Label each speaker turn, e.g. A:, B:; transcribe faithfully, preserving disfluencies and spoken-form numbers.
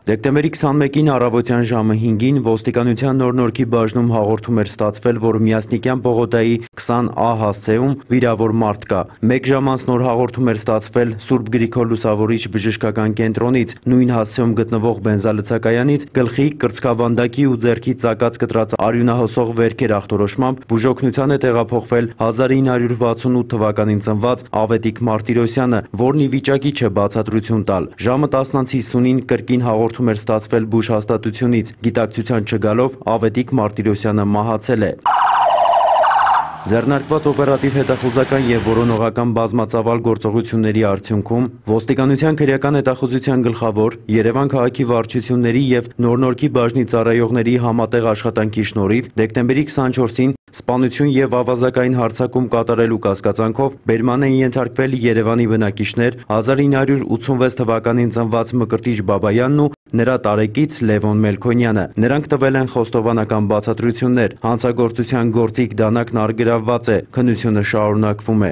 A: Դեկտեմբերի քսանմեկին առավոտյան ժամը հինգին ոստիկանության Նոր Նորքի բաժնում հաղորդում էր ստացվել, որ Միասնիկյան պողոտայի քսան ա հասցեում վիրավոր մարդ կա։ Մեկ ժամ անց նոր հաղորդում էր ստացվել Սուրբ Գրիգոր Լուսավորիչ բժշկական կենտրոնից, նույն հասցեում գտնվող բենզալցակայանից գլխի, կրծքավանդակի ու ձեռքի ծակած կտրած արյունահոսող վերքեր ախտորոշմամբ բուժօգնության է տեղափոխվել հազար ինը հարյուր վաթսունութ թվականին ծնված Ավետիք Մարտիրոսյանը, որն ի վիճակի չէ բացատրություն տալ։ Ժամը տասն անց հիսունին կրկին հաղորդում էր ստացվել բուժհաստատությունից, գիտակցության չգալով Ավետիք Մարտիրոսյանը մահացել է։ Ձեռնարկված օպերատիվ հետախուզական և որոնողական բազմածավալ գործողությունների արդյունքում ոստիկանության քրեական հետախուզության գլխավոր, Երևան քաղաքի վարչությունների և Նոր Նորքի բաժնի ծառայողների համատեղ աշխատանքի շնորհիվ դեկտեմբերի քսանչորսին սպանություն և ավազակային հարձակում կատարելու կասկածանքով բերման են ենթարկվել Երևանի բնակիչներ հազար ինը հարյուր ութսունվեց թվականին ծնված Մկրտիչ Բաբայանն ու նրա տարեկից Լևոն Մելքոնյանը։ Նրանք տվել են խոստովանական բացատրություններ։ Հանցագործության գործիք դանակն առգրավված է, քննությունը շարունակվում է։